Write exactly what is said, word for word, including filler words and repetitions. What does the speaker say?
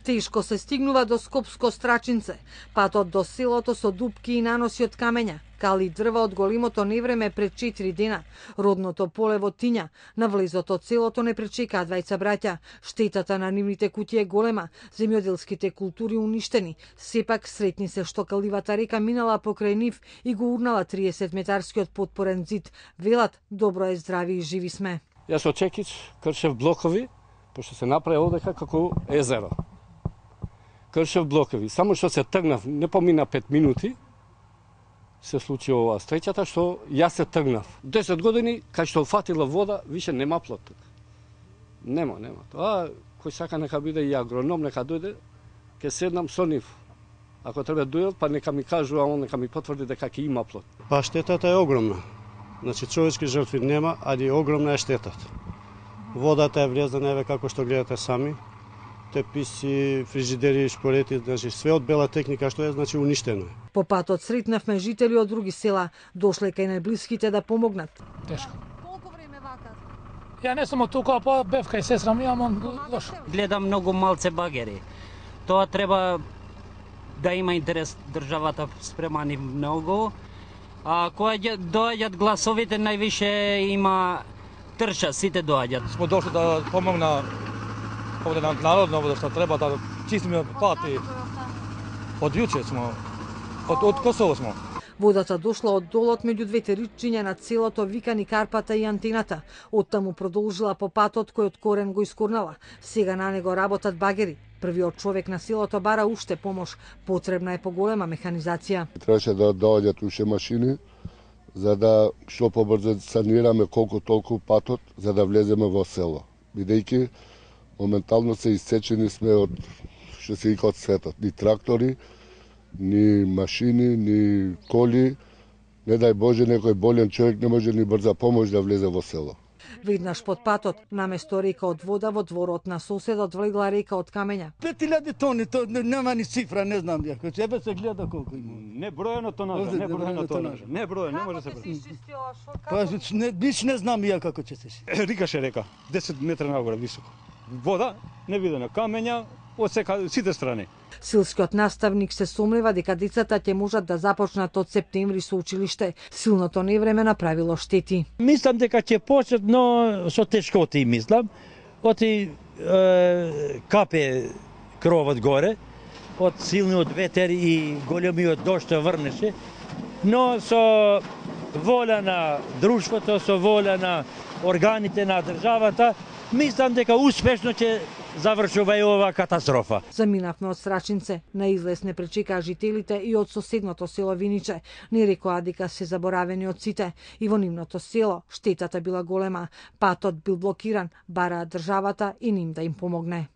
Тешко се стигнува до Скопско Страчинце. Патот до селото со дупки и наноси од камења, кали дрва од големото невреме пред четири дена. Родното поле во Тиња, на влезот од селото не пречекаа двајца браќа. Штетата на нивните куќи е голема, земјоделските култури уништени. Сепак сретни се што каливата река минала покрај нив и го урнала триесет метарскиот потпорен зид. Велат, добро е, здрави и живи сме. Јас од Чекич кршев блокови, пошто се направи овдека како езеро. Кршев блокови, само што се тргнав, не помина пет минути, се случи ова стречата што јас се тргнав. десет години, кај што фатила вода, више нема плот. Нема, нема. Тоа, кој сака нека биде и агроном, нека дојде, ќе седнам со нив. Ако треба дојдат, па нека ми кажу, а он нека ми потврди дека ќе има плот. Па штетата е огромна. Значи, човечки жртви нема, али огромна е штетата. Водата е влезна, еве како што гледате сами. Теписи, фрижидери, шпорети, значи све од бела техника што е, значи уништено е. По патот сретнавме жители од други села, дошле кај најблиските да помогнат. Тешко. Колку време вака? Ја не сум од тука, па бев кај сестра ми, ама лошо. Гледам многу малце багери. Тоа треба да има интерес државата спрема ни многу. А кога доаѓаат гласовите, највише има трча, сите доаѓаат. Смо дошли да помогна овде на народно, овде што треба да чистиме пати. Од јуче смо, од, од Косово смо. Водата дошла од долот меѓу двете ричиња на селото Викани Карпата и Антената. Оттаму продолжила по патот кој од корен го искорнала. Сега на него работат багери. Првиот човек на селото бара уште помош. Потребна е поголема механизација. Требаше да доаѓат уште машини за да што побрзо санираме колку толку патот за да влеземе во село. Бидејќи моментално се исцечени сме од што се вика од светот. Ни трактори, ни машини, ни коли. Не дај Боже, некој болен човек не може ни брза помош да влезе во село. Веднаш под патот, наместо река од вода, во дворот на соседот влегла река од камења. пет илјади тони, то нема ни цифра, не знам ја. Кој себе се гледа колку има. Не броено тонажа, не броено тонажа. Не броено, не може се брои. Па не биш не знам ја како ќе се. Рикаше река, десет метра нагоре високо. Вода, невидена, камења од сека, сите страни. Силскиот наставник се сомнева дека децата ќе можат да започнат од септември со училиште. Силното невреме направило штети. Мислам дека ќе почнат, но со тешкоти мислам. Оти е, капе кровот горе, од силниот ветер и големиот дожд што врнеше, но со воля на друштвото, со воля на органите на државата, мислам дека успешно ќе завршува и ова катастрофа. Заминавме од Страчинце. На излез не пречекаа жителите и од соседното село Виниче. Не рекоа дека се заборавени од сите. И во нивното село штетата била голема. Патот бил блокиран, бараа државата и ним да им помогне.